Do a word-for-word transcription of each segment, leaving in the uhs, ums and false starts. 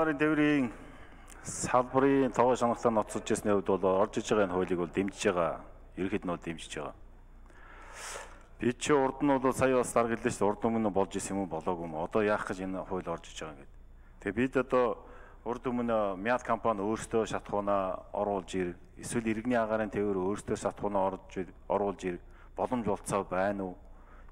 Тээврийн салбарын тогоо шаналлаа ноцож ирсний хувьд бол орж иж байгаа энэ хуулийг бол дэмжиж байгаа. Ерөнхийд нь бол дэмжиж байгаа. Би чи урд нь бол сая бас дарга хэллээ шүү дээ. Урд өмнө болж исэн юм уу болоогүй юм. Одоо яах гэж энэ хууль орж иж байгаа юм гээд. Тэгээ бид одоо урд өмнө Мяд компани өөрсдөө шатхуунаа оруулж ир, эсвэл иргэний агаарын тээвэр өөрсдөө шатхуунаа орж оруулж ир боломж олцоо байна уу?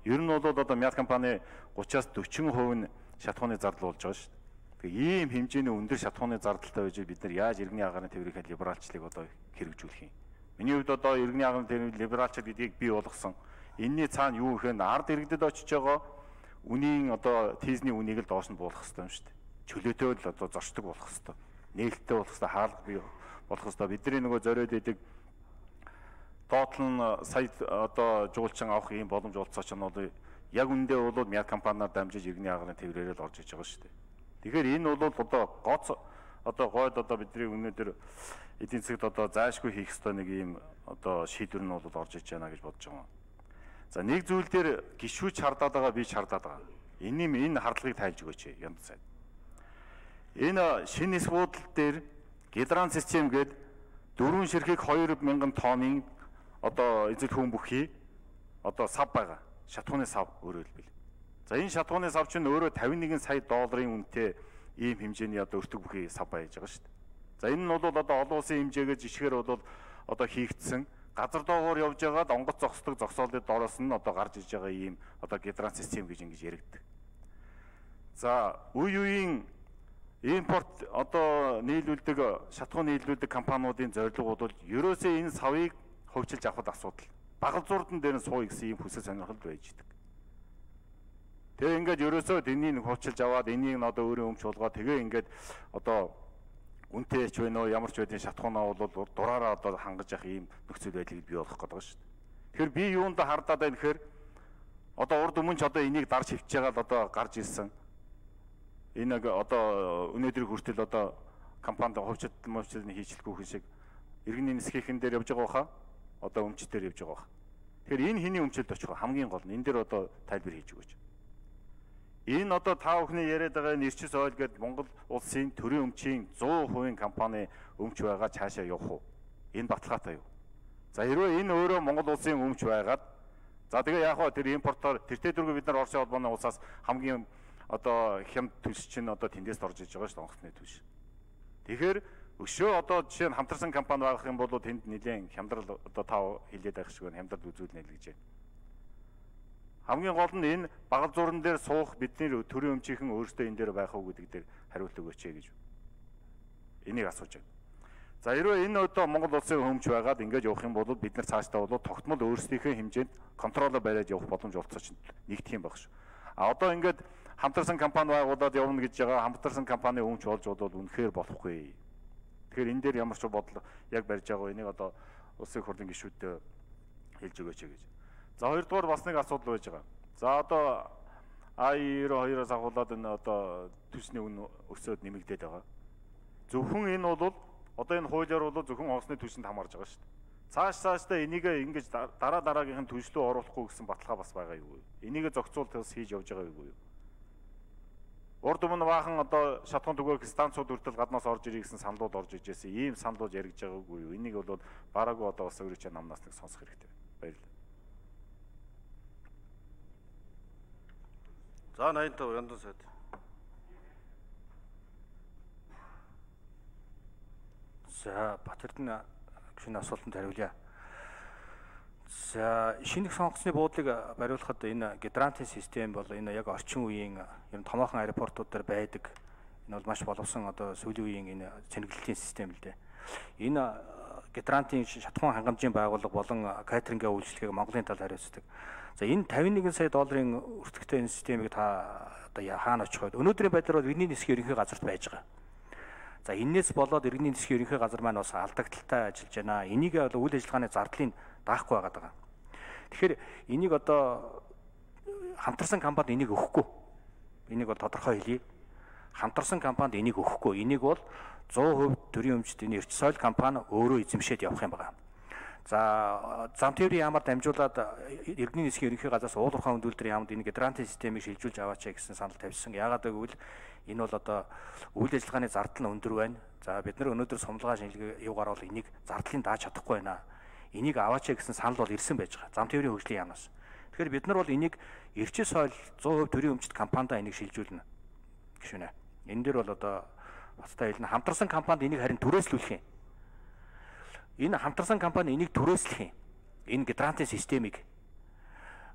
Ер нь бол одоо Мяд компани гураваас дөрвөн хувь нь шатхууны зардал болж байгаа шүү дээ. Тэгээ ийм хэмжээний өндөр шатхууны зардалтай байж бид нар яаж иргэний агаарын тээврийн либералчлыг одоо хэрэгжүүлэх юм? Миний хувьд одоо иргэний агаарын тээврийн либералчл гэдгийг бий болгосон. Энийний цаана юу гэхээр ард иргэдэд очиж байгаа үнийн одоо тийзний үнийг л доош нь буулгах хэрэгтэй юм шүү дээ. Чөлөөтэй л одоо зорчдог болох хэрэгтэй. Нээлттэй болох хэрэгтэй, хаалга бий болох хэрэгтэй. Бидний нөгөө зориод идэг доотл нь сая одоо жуулчин авах ийм боломж олцооч нь бол яг үндэ бол Мяд компаниар дамжиж иргэний агаарын тээврээрээ л орж иж байгаа шүү дээ. Тэгэхээр энэ бол одоо гоц одоо гойд одоо бидний өнөөдөр эдийн засагт одоо заашгүй хийх ёстой нэг ийм одоо шийдвэр нь бол орж иж байна гэж бодож байгаа. За нэг зүйл дээр гişүүч хардаад байгаа, би ч хардаад байгаа. Энийн энэ хардлагыг тайлж өгөөч янз сайд. Энэ шинэ эс буудал дээр гидрант систем гээд дөрвөн ширхэг хоёр мянган тонны одоо эзэл хүн бүхий одоо сав байгаа. Шатхууны сав өөрөөр хэлбэл. За энэ шатхууны сав чинь өөрөө тавин нэгэн сая долларын үнэтэй ийм хэмжээний одоо өртөг бүхий сав байж байгаа шүү дээ. За энэ нь бол одоо олон улсын хэмжээгээр жишгээр бол одоо хийгдсэн газар доогоор явж байгаад онгоц зогсдог зогсоолын дороос нь одоо гарч иж байгаа ийм одоо гидрант систем гэж ингэж яригддаг. За үе үеийн импорт одоо нийлүүлдэг шатхуун нийлүүлдэг компаниудын зорилго бол ерөөсөө энэ савыг хөгжилж авахд асуудал. Багал зурдан дээр нь сууя гэсэн ийм хүсэл сонирхол байж идэг. Тэгээ ингээд ерөөсөө энийг хуучлж аваад энийг одоо өөрөө өмч болгоод тэгээ ингээд одоо үнтэй ч вэ нөө ямар ч байдгийн шатхуунаа бол дураараа одоо хангаж явах ийм нөхцөл байдлыг бий болгох гэдэг шүү дээ. Тэгэхээр би юунд хардаад байна гэхээр одоо урд өмнө ч одоо энийг дарж хөвч байгаа л одоо гарч ирсэн. Энэ одоо өнөөдрийг хүртэл одоо компанид хувьчил мөвчлөний хийчлэхгүй хүн шиг иргэний нисхийн дээр явж байгаа баха. Одоо өмчтөр явж байгаа баха. Тэгэхээр энэ хэний өмчлөлд очих вэ? Хамгийн гол нь энэ дээр одоо тайлбар хийж өгөөч. Энэ одоо та бүхний яриад байгаа нэрчис ойл гэдэг Монгол улсын төрийн өмчийн сто хувийн компани өмч байгаа цаашаа явах уу? Энэ баталгаатай юу? За хэрвээ энэ өөрөө Монгол улсын өмч байгаад за тэгээ яах вэ? Тэр импортоор тэртээ дөрөв бид нар Оросын холбооны улсаас хамгийн одоо хямд төлс чинь одоо тэндээс орж иж байгаа шүү дээ, онгоцны төлс. Тэгэхээр өшөө одоо жишээ нь хамтарсан компани байх юм бол тэнд нэлээд хямдрал одоо та хэлээд байх шиг байна, хямдрал үзүүлнэ л гэж байна. Хамгийн гол нь энэ багал зуран дээр суух бидний төрийн өмчийнхэн өөрсдөө энэ дээр байх уу гэдэг дээр хариулт өгөөч гэж энийг асууж байна. За хэрвээ энэ одоо Монгол улсын өмч байгаад ингэж явах юм бол бид нар цаашдаа бол тогтмол өөрсдийнхөө хэмжээнд контролоо бариад явах боломж олцооч нэгдэх юм баг шүү. А одоо ингээд хамтарсан компани байгуулад явна гэж байгаа хамтарсан компани өмч болж бодвол үнэхээр болохгүй. Тэгэхээр энэ дээр ямар ч бодлого яг барьж байгаа энийг одоо улсын хурлын гишүүдэд хэлж өгөөч гэж. За хоёрдугаар бас нэг асуудал байж байгаа. За одоо А девяносто двоос агуулад энэ одоо төсний үн өсөөд нэмэгдээд байгаа. Зөвхөн энэ бол одоо энэ хуулиар бол зөвхөн онгоцны төсөнд хамаарж байгаа шүү дээ. Цааш цаашдаа энийг ингэж дараа дараагийнх нь төслөө оруулахгүй гэсэн баталгаа бас байгаа юу? Энийг зохицуулт хийж явж байгаа юу? Урд өмнө баахан одоо шатхуун түгээх станцууд үрдэл гаднаас орж ирэх гэсэн саналууд орж ижсэн. Ийм саналууд яригдж байгаагүй юу? Энийг бол бараагүй одоо бас өөрөө ч намнаас нэг сонсох хэрэгтэй. Баярлалаа. За наймтаа яндан сайд. За Батэрдэн гүшүүний асуултанд хариулъя. За шинэ сонгоцны буудлыг бариулахад энэ гидрант систем бол энэ яг орчин үеийн ер нь томоохон аэропортууд дээр байдаг. Энэ бол маш боловсон одоо сүүлийн үеийн энэ цэнэглэлийн систем л дээ. Энэ гидрантын шатхуун хангамжийн байгууллага болон катерингийн үйлчлэгийг Монголын талд хариуцдаг. За энэ тавин нэгэн сая долларын өртөгтэй энэ системийг та одоо хаана очих вэ? Өнөөдрийн байдлаар бол иргэний нисхийн ерөнхий газарт байж байгаа. За энээс болоод иргэний нисхийн ерөнхий газар маань бас алдагдaltaй ажиллаж байна. Энийг бол үйл ажиллагааны зардлыг даахгүй байгаад байгаа. Тэгэхээр энийг одоо хамтарсан компанид энийг өгөхгүй. Энийг бол тодорхой хэлье. Хамтарсан компанид энийг өгөхгүй. Энийг бол сто хувь төрийн өмчт энэ Эрч соёл компани өөрөө эзэмшээд явах юм байна. За зам тээврийн яамаар дамжуулаад иргэний нисхийн ерөнхий газраас уулуурхаан хөндүүлэлтийн яамд энэ гидрант системийг шилжүүлж аваач гэсэн санал тавьсан. Яагаад гэвэл Энэ бол одоо үйл ажиллагааны зардал нь өндөр байна. За бид нар өнөөдөр сумлгаа шинжилгээ юугаар бол энийг зардлыг дааж чадахгүй байна. Энийг аваач гэсэн санал бол ирсэн байж байгаа. Зам тээврийн хөгжлийн яамнаас. Тэгэхээр бид нар бол энийг эрчим соёл сто хувь төрийн өмчт компанида энийг шилжүүлнэ. Гişүнэ. Энэ дээр бол одоо бацтай хэлнэ хамтарсан компанид энийг харин түрээслүүлэх юм. Энэ хамтарсан компани энийг түрээслэх юм. Энэ гидранten системийг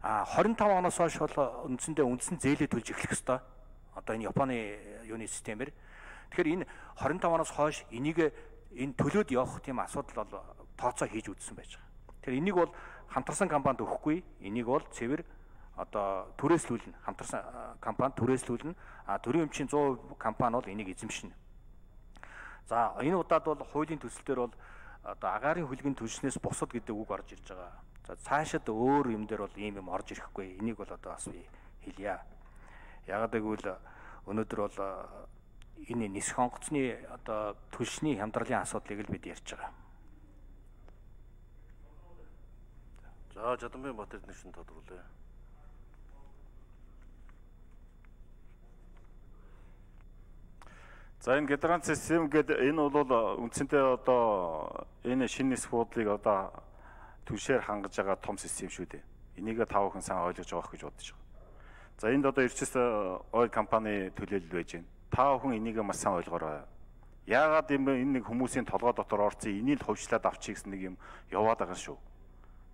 а двадцать пять оноос хойш бол үндсэндээ үндсэн зээлээ төлж эхлэх ёстой. Одоо энэ Японы юуны системээр. Тэгэхээр энэ двадцать пять оноос хойш энийг энэ төлөөд явах тийм асуудал бол тооцоо хийж үзсэн байж байгаа. Тэгэхээр энийг бол хамтарсан компанид өгөхгүй. Энийг бол цэвэр одоо түрээслүүлнэ. Хамтарсан компанид түрээслүүлнэ. А төрийн өмчийн сто хувь компани бол энийг эзэмшнэ. За энэ удаад бол хуулийн төсөл дээр бол одоо агаарын хүлгийн түлшнээс бусад гэдэг үг орж ирж байгаа. За цаашид өөр юм дээр бол ийм юм орж ирэхгүй. Энийг бол одоо бас би хэлье. Ягаад гэвэл өнөөдөр бол энэ нисэх онгоцны одоо түлшний хямдралын асуудлыг л бид ярьж байгаа. За Жадамбай Батэр нэгэн тодруулъя. За энэ гидрант систем гэдэг энэ бол үндсэндээ одоо энэ шинэ нисэх буудлыг одоо түлшээр хангаж байгаа том систем шүү дээ. Энийг тав хүн сайн ойлгож байгаа гэж бодож байгаа. За энд одоо Эрчис ойл компани төлөөлөл байж байна. Тав хүн энийг маш сайн ойлгоорой. Яагаад юм бэ? Энэ нэг хүмүүсийн толгой дотор орцсон энийг л хувьчлаад авчих гэсэн нэг юм яваад байгаа шүү.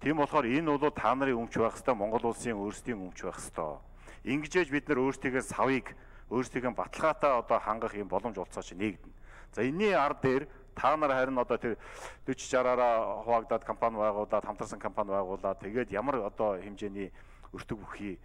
Тийм болохоор энэ бол та нарын өмч байх хэвээр Монгол улсын өөрсдийн өмч байх хэвээр. Ингэжээж бид нар өөрсдийнхээ савыг өөрсдийнхээ баталгаатай одоо хангах юм боломж олцоо чи нэгдэнэ. За энэний ард дээр та нар харин одоо тэр forty sixty-аараа хуваагдаад компани байгуулад хамтарсан компани байгуулад тэгээд ямар одоо хэмжээний өртөг бүхий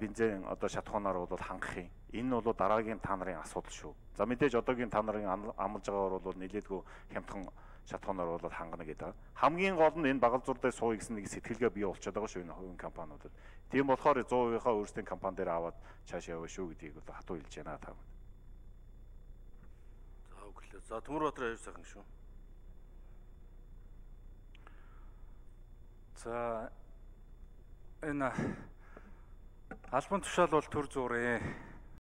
бензин одоо шатхуунаар бол хангах юм. Энэ бол дараагийн та нарын асуудал шүү. За мэдээж одоогийн та нарын амлаж байгаагаар бол нэлээдгүй хямдхан шатхуунаар бол хангана гэдэг. Хамгийн гол нь энэ багал зур дээр сууя гэсэн нэг сэтгэлгээ бий болчиход байгаа шүү энэ хувийн компаниудад. Тийм болохоор сто хувийнхаа өөрсдийн компани дээр аваад цааш яваа шүү гэдгийг бол хатуу хэлж байна та. За өглөө. За Төмөрбаатар аяр сайхан шүү. За энэ албан тушаал бол төр зурээ.